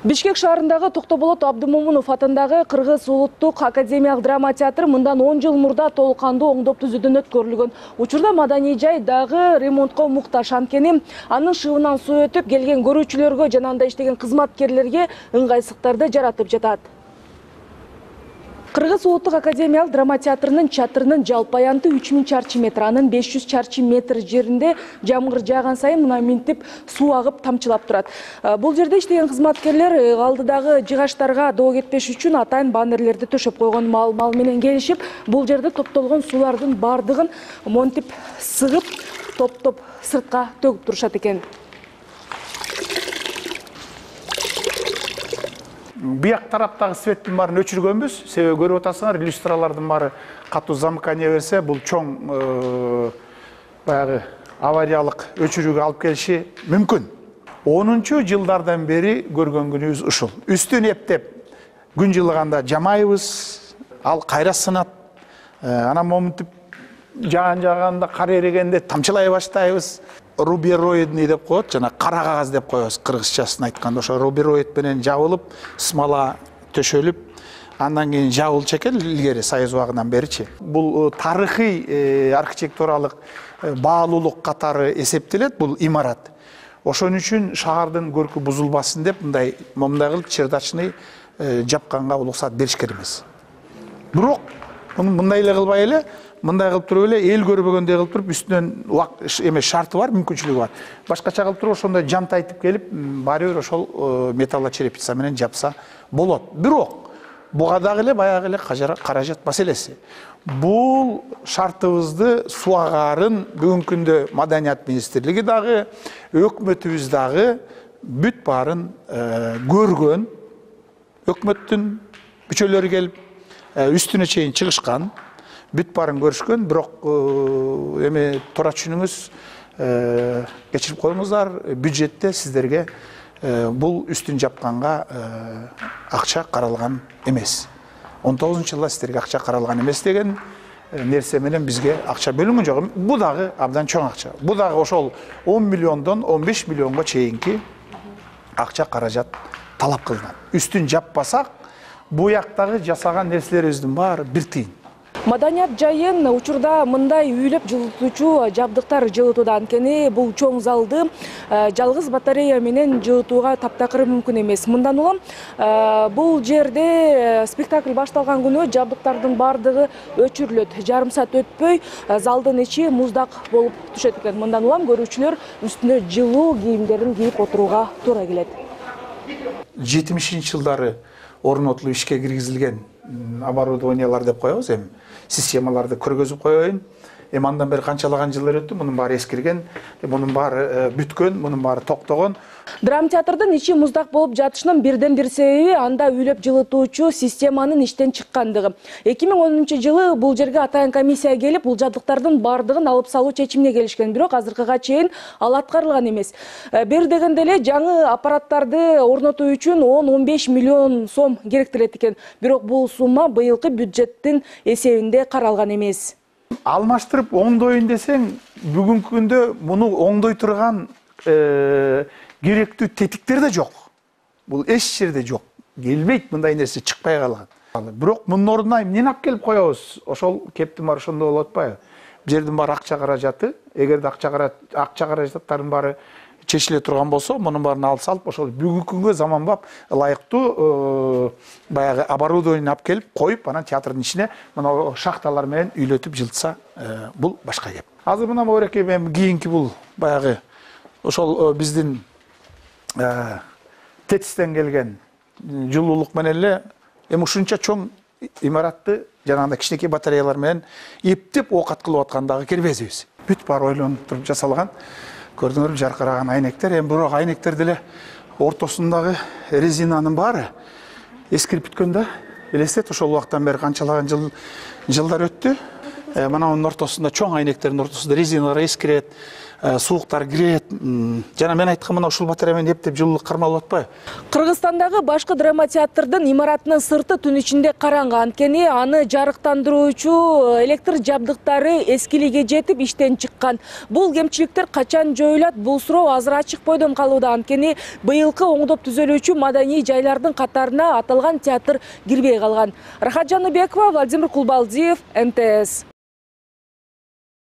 Бишкек шаарындагы Токтоболот Абдымомунов атындагы Кыргыз улуттук академиялык драма театры мындан 10 жыл мурда толукандуу оңдоп түзүүдөн өткөрүлгөн. Учурда маданий жай дагы ремонтко муктаж, анткени анын шыбынан суу өтүп келген көрүүчүлөргө жана анда иштеген кызматкерлерге ыңгайсыздыктарды жаратып жатат. Кыргыз улуттук академиялык драма театрынын чатырынын жалпы аянты 3000 чарчы метр, анын 500 чарчы метр жеринде жамгыр жааган сайын мына минтип суу агып тамчылап турат. Бул жерде иштеген кызматкерлер алдыдагы жыгаштарга доо кетпеш үчүн атайын баннерлерди төшөп койгон, мал менен келишип, бул жерде топтолгон суулардын бардыгын монтип сыгып, топ сыртка төгүп турушат экен. Бияк тараптагы светтин баарын өчүргөнбүз. Себеби көрүп атасыңар, люстралардын баары катуу замыкание берсе, бул чоң баягы авариялык өчүрүүгө алып келиши мүмкүн. 10-чу жылдардан бери көргөн күнүбүз ушул. Үстүн эптеп күн жылыганда жамайбыз, ал кайра сынат. Анан момунтип жааганда кар эрегенде тамчылай баштайбыз. Рубероидный деп коет, жана кара кагаз деп коебуз кыргызчасын айтканда. Ошо рубероид менен жабылып, смола төшөлүп, андан кийин жабылчу экен илгери Союз убагынан беричи. Бул тарыхый архитектуралык баалуулук катары эсептелет бул имарат. Ошон үчүн шаардын көркү бузулбасын деп мындай кылып чердачный жапканга уруксат беришкен эмес. Бирок мындай эле кылбай эле, мындай кылып туруп эле эл көрбөгөндөй кылып туруп үстүнөн шарты бар, мүмкүнчүлүгү бар. Башкача кылып туруп ошондой жантайтып келип, баары бир ошол металлочерепица менен жапса болот. Бирок буга дагы эле баягы эле каражат маселеси. Бул шартыбызды суагарын бүгүнкү күндө Маданият министрлиги дагы, өкмөтүбүз дагы бүт баарын көргөн. Өкмөттүн мүчөлөрү келип үстүнө чейин чыгышкан. Бүт барын көрүшкөн, бирок эми туура түшүнүңүз, кечирип коюңуздар, бюджетте сиздерге бул үстүн жапканга акча каралган эмес. 19-жылда сиздерге акча каралган эмес деген нерсе менен бизге акча бөлүнгөн жок. Бул дагы абдан чоң акча. Бул дагы ошол 10 миллиондон 15 миллионго чейинки акча каражат талап кылынат. Үстүн жаппасак, буяктагы жасаган нерселерибиздин баары бир тыйын. Маданият жайын учурда мындай үйлөп жылытуучу жабдыктар жылытууда, анткени бул чоң залды жалгыз батарея менен жылытууга таптакыр мүмкүн эмес. Мындан улам бул жерде спектакль башталган күнү жабдыктардын бардыгы өчүрүлөт. Жарым саат өтпөй залдын ичи муздак болуп түшөт экен. Мындан улам көрүүчүлөр үстүнө жылуу кийимдерин кийип отурууга туура келет. 70-жылдары орнотулуп ишке киргизилген оборудованиялар деп коебуз, эми системаларды көргөзүп коеюн. Эми андан бери канчалаган жылдар өттү, мунун баары эскирген, мунун баары бүткөн, мунун баары токтогон. Драма театрдын ичи муздак болуп жатышынын бирден бир себеби анда үйлөп жылытуучу системанын иштен чыккандыгы. 2010-жылы бул жерге атайын комиссия келип, бул жабдыктардын бардыгын алып салуу чечимине келишкен, бирок азыркыга чейин ал аткарылган эмес. Бир дегенде эле жаңы аппараттарды орнотуу үчүн 10-15 миллион сом керектелет экен. Бирок бул сумма быйылкы бюджеттин эсебинде каралган эмес. Алмаштырып оңдойун десең, бүгүнкү күндө муну оңдой турган керектүү тетиктер да жок. Бул эч жерде жок. Келбейт, мындай нерсе чыкпай калган. Бирок мунун ордуна эмнени алып келип коебуз? Ошол кептин баары ошондо болуп атпайбы? Бул жердин баары акча каражаты. Эгерде акча каражаттардын баары чечиле турган болсо, мунун баарын алып салып, ошол бүгүнкү күнгө заманбап ылайыктуу баягы оборудование алып келип коюп, анан театрдын ичине мына шахталар менен үйлөтүп жылытса, бул башка кеп. Азыр мына Мореке мен кийинки бул баягы ошол биздин тетистен келген жылуулук менен эле эми ушунча чоң имаратты жанагындай кичинекей батареялар менен эптеп оокат кылып аткандагы кербезибиз. Бүт баары ойлонуп туруп жасалган. Көрдүңөрбү, жаркыраган айнектер. Эми бирок айнектерди эле ортосундагы резинанын баары эскирип бүткөн да. Элестет, ошол убактан бери канчалаган жылдар өттү. Мына мунун ортосунда, чоң айнектердин ортосунда резиналар эскирет. сууктар кирет. Жана мен айткан мына ушул батарея менен эптеп жылуулук кармалып атпайбы? Кыргызстандагы башкы драма театрдын имаратынын сырты түн ичинде караңгы, анткени аны жарыктандыруучу электр жабдыктары эскиликке жетип иштен чыккан. Бул кемчиликтер качан жоюлат? Бул суроо азыр ачык бойдон калууда, анткени быйылкы оңдоп түзөлүүчү маданий жайлардын катарына аталган театр кирбей калган. Рахат Жаныбекова, Владимир Кулбалдиев, МТС.